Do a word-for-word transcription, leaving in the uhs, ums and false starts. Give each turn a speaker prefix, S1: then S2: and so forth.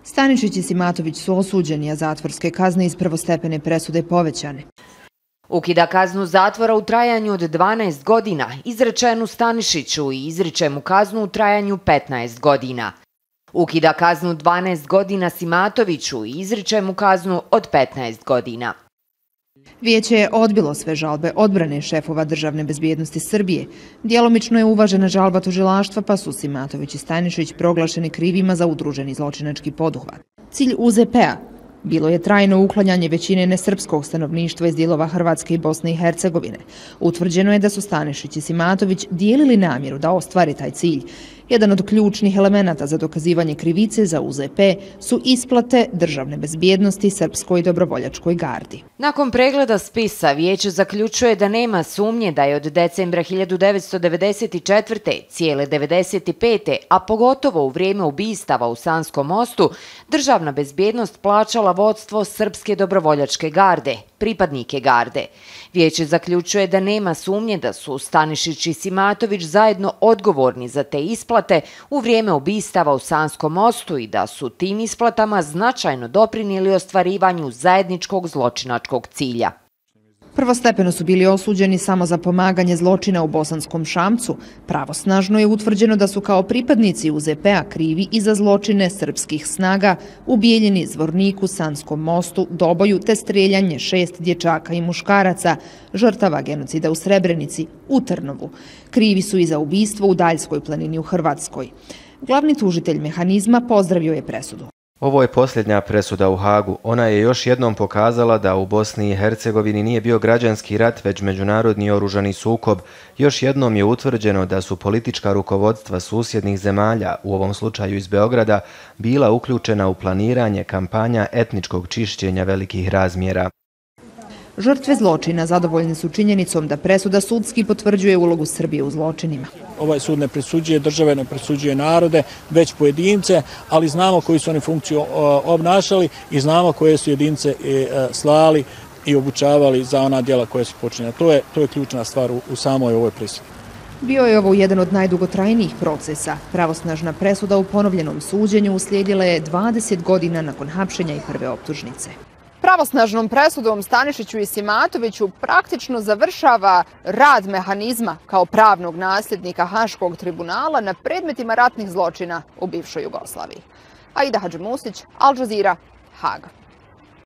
S1: Stanišić i Simatović su osuđeni, a zatvorske kazne iz prvostepene presude povećane.
S2: Ukida kaznu zatvora u trajanju od dvanaest godina, izrečenu Stanišiću i izriče mu kaznu u trajanju petnaest godina. Ukida kaznu dvanaest godina Simatoviću i izriče mu kaznu od petnaest godina.
S1: Vijeće je odbilo sve žalbe odbrane šefova državne bezbjednosti Srbije. Djelomično je uvažena žalba tužilaštva, pa su Simatović i Stanišić proglašeni krivima za udruženi zločinački poduhvat. Cilj U Z P-a bilo je trajno uklanjanje većine nesrpskog stanovništva iz dijelova Hrvatske i Bosne i Hercegovine. Utvrđeno je da su Stanišić i Simatović dijelili namjeru da ostvari taj cilj. Jedan od ključnih elemenata za dokazivanje krivice za U Z P su isplate državne bezbjednosti Srpskoj dobrovoljačkoj gardi.
S2: Nakon pregleda spisa, vijeće zaključuje da nema sumnje da je od decembra hiljadu devetsto devedeset četvrte. cijele devedeset pete. a pogotovo u vrijeme ubistava u Sanskom mostu, državna bezbjednost plaćala vodstvo Srpske dobrovoljačke garde, pripadnike garde. Vijeće zaključuje da nema sumnje da su Stanišić i Simatović zajedno odgovorni za te isplate u vrijeme ubistava u Sanskom mostu i da su tim isplatama značajno doprinijeli ostvarivanju zajedničkog zločinačkog cilja.
S1: Prvostepeno su bili osuđeni samo za pomaganje zločina u Bosanskom Šamcu. Pravosnažno je utvrđeno da su kao pripadnici U Z P-a krivi i za zločine srpskih snaga u Bijeljini, Zvorniku, Sanskom mostu, Doboju te strijeljanje šest dječaka i muškaraca, žrtava genocida u Srebrenici, u Trnovu. Krivi su i za ubistvo u Daljskoj planini u Hrvatskoj. Glavni tužitelj mehanizma pozdravio je presudu.
S3: Ovo je posljednja presuda u Hagu. Ona je još jednom pokazala da u Bosni i Hercegovini nije bio građanski rat, već međunarodni oružani sukob. Još jednom je utvrđeno da su politička rukovodstva susjednih zemalja, u ovom slučaju iz Beograda, bila uključena u planiranje kampanja etničkog čišćenja velikih razmjera.
S1: Žrtve zločina zadovoljne su činjenicom da presuda sudski potvrđuje ulogu Srbije u zločinima.
S4: Ovaj sud ne presuđuje države, ne presuđuje narode, već pojedince, ali znamo koju su oni funkciju obnašali i znamo koje su jedince slali i obučavali za ona djela koje su počinjena. To je, to je ključna stvar u, u samoj ovoj presudi.
S1: Bio je ovo jedan od najdugotrajnijih procesa. Pravosnažna presuda u ponovljenom suđenju uslijedila je dvadeset godina nakon hapšenja i prve optužnice. Pravosnažnom presudom Stanišiću i Simatoviću praktično završava rad mehanizma kao pravnog nasljednika Haškog tribunala na predmetima ratnih zločina u bivšoj Jugoslaviji. Aida Hadžimusić, Al Jazeera, Hag.